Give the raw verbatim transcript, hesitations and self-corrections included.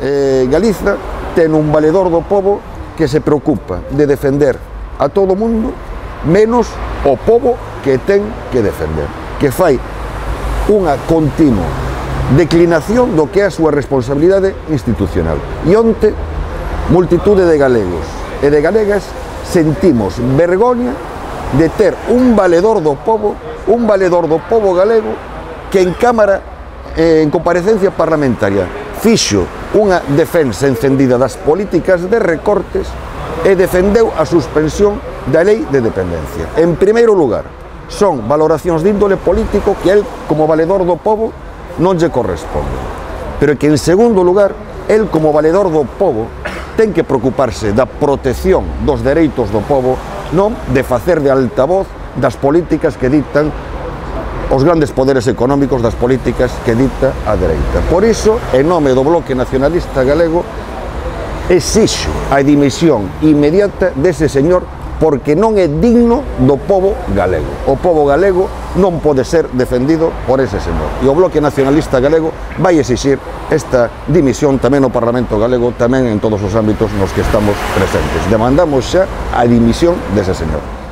eh, Galiza ten un valedor do pobo que se preocupa de defender a todo o mundo menos o pobo que ten que defender, que fai unha continua declinación do que é a súa responsabilidade institucional. E onte, multitude de galegos e de galegas sentimos vergoña de ter un valedor do pobo, un valedor do pobo galego que en Cámara, eh, en comparecencia parlamentaria, fixo unha defensa encendida das políticas de recortes e defendeu a suspensión da lei de dependencia. En primeiro lugar, son valoracións de índole político que el, como valedor do pobo, non lle corresponde. Pero que, en segundo lugar, el, como valedor do pobo, ten que preocuparse da protección dos dereitos do pobo, non de facer de altavoz das políticas que dictan os grandes poderes económicos, das políticas que dicta a dereita. Por iso, en nome do Bloque Nacionalista Galego, exixo a dimisión inmediata dese señor, porque non é digno do pobo galego. O pobo galego non pode ser defendido por ese señor. E o Bloque Nacionalista Galego vai exixir esta dimisión tamén no Parlamento Galego, tamén en todos os ámbitos nos que estamos presentes. Demandamos xa a dimisión dese señor.